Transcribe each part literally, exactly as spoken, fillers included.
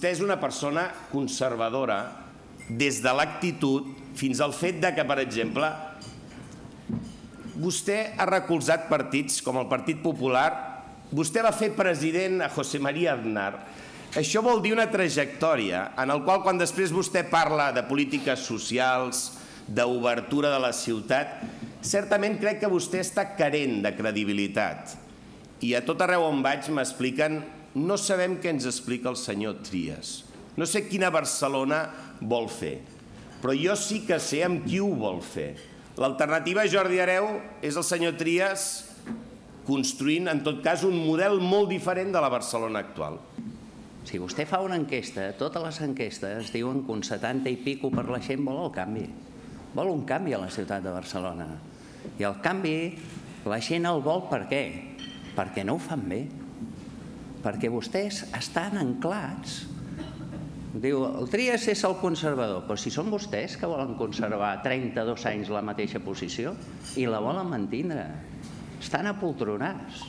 Vostè és una persona conservadora des de l'actitud fins al fet de que, per exemple, vostè ha recolzat partits com el Partit Popular, vostè va fer president a José María Aznar. Això vol dir una trajectòria en la qual, quan després vostè parla de polítiques socials, d'obertura de la ciutat, certament crec que vostè està carent de credibilitat. I a tot arreu on vaig m'expliquen, no sabem què ens explica el senyor Trias. No sé quina Barcelona vol fer, però jo sí que sé amb qui ho vol fer. L'alternativa a Jordi Hereu és el senyor Trias construint, en tot cas, un model molt diferent de la Barcelona actual. Si vostè fa una enquesta, totes les enquestes diuen que un setanta i pico per la gent vol el canvi. Vol un canvi a la ciutat de Barcelona. I el canvi, la gent el vol per què? Perquè no ho fan bé. Perquè vostès estan anclats. Diu, el Trias és el conservador, però si són vostès que volen conservar trenta-dos anys la mateixa posició i la volen mantindre. Estan apoltronats.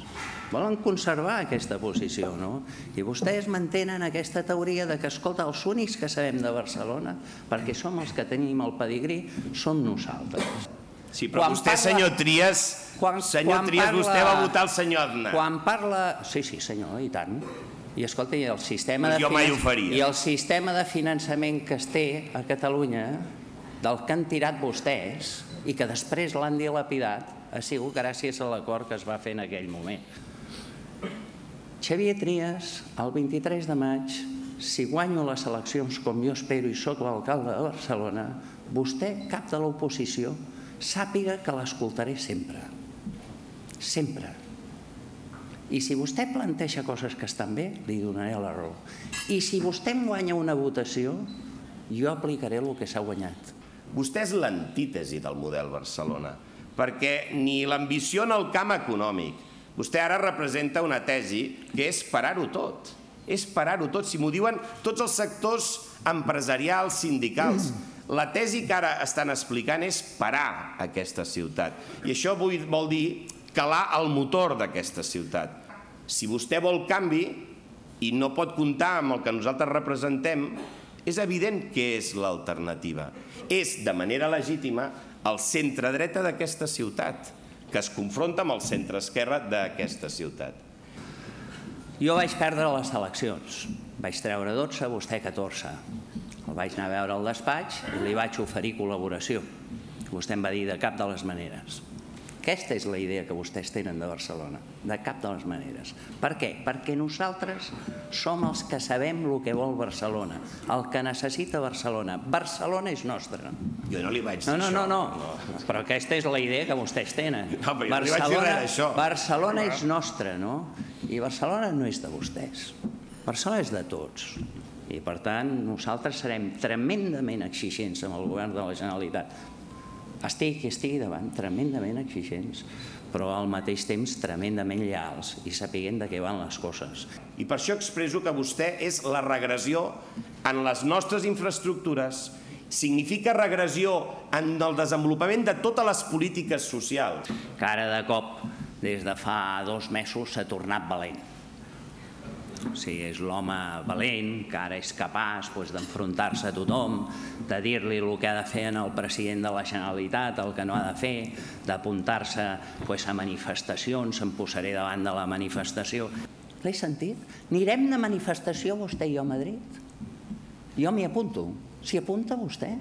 Volen conservar aquesta posició, no? I vostès mantenen aquesta teoria de que, escolta, els únics que sabem de Barcelona, perquè som els que tenim el pedigrí, som nosaltres. Sí, però vostè, senyor Trias, senyor Trias, vostè va votar el senyor Aznar. Quan parla... Sí, sí, senyor, i tant. I escolta, i el sistema de... Jo mai ho faria. I el sistema de finançament que es té a Catalunya, del que han tirat vostès, i que després l'han dilapidat, ha sigut gràcies a l'acord que es va fer en aquell moment. Xavier Trias, el vint-i-tres de maig, si guanyo les eleccions com jo espero i sóc l'alcalde de Barcelona, vostè, cap de l'oposició, sàpiga que l'escoltaré sempre. Sempre. I si vostè planteja coses que estan bé, li donaré la raó. I si vostè em guanya una votació, jo aplicaré el que s'ha guanyat. Vostè és l'antítesi del model Barcelona, perquè ni l'ambició en el camp econòmic. Vostè ara representa una tesi que és parar-ho tot. És parar-ho tot. Si m'ho diuen tots els sectors empresarials, sindicals, la tesi que ara estan explicant és parar aquesta ciutat. I això vol dir calar el motor d'aquesta ciutat. Si vostè vol canvi i no pot comptar amb el que nosaltres representem, és evident que és l'alternativa. És, de manera legítima, el centre-dreta d'aquesta ciutat, que es confronta amb el centre-esquerra d'aquesta ciutat. Jo vaig perdre les eleccions. Vaig treure dotze, vostè catorze. El vaig anar a veure al despatx i li vaig oferir col·laboració. Vostè em va dir de cap de les maneres. Aquesta és la idea que vostès tenen de Barcelona, de cap de les maneres. Per què? Perquè nosaltres som els que sabem el que vol Barcelona, el que necessita Barcelona. Barcelona és nostra. Jo no li vaig dir això. No, no, no, no. Però aquesta és la idea que vostès tenen. No, però jo no li vaig dir res d'això. Barcelona és nostra, no? I Barcelona no és de vostès. Barcelona és de tots. I, per tant, nosaltres serem tremendament exigents amb el govern de la Generalitat. Estic i estigui davant, tremendament exigents, però al mateix temps tremendament lleials i sapiguent de què van les coses. I per això expresso que vostè és la regressió en les nostres infraestructures, significa regressió en el desenvolupament de totes les polítiques socials. Que ara de cop, des de fa dos mesos, s'ha tornat valent. O sigui, és l'home valent, que ara és capaç d'enfrontar-se a tothom, de dir-li el que ha de fer al president de la Generalitat, el que no ha de fer, d'apuntar-se a manifestacions, em posaré davant de la manifestació. L'he sentit? Anirem de manifestació vostè i jo a Madrid? Jo m'hi apunto. S'hi apunta vostè?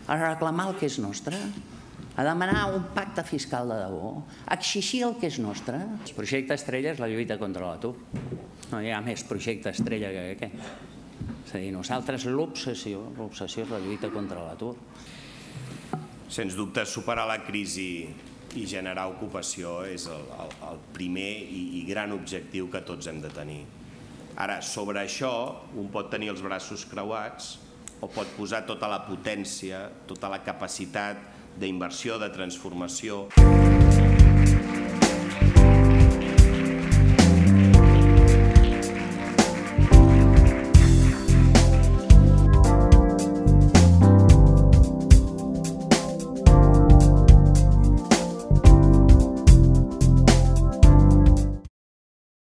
A reclamar el que és nostre? A demanar un pacte fiscal de debò? A exigir el que és nostre? El projecte estrella és la lluita contra l'atur. No hi ha més projecte estrella que aquest. És a dir, nosaltres l'obsessió, l'obsessió és la lluita contra l'atur. Sens dubte, superar la crisi i generar ocupació és el primer i gran objectiu que tots hem de tenir. Ara, sobre això, un pot tenir els braços creuats o pot posar tota la potència, tota la capacitat d'inversió, de transformació.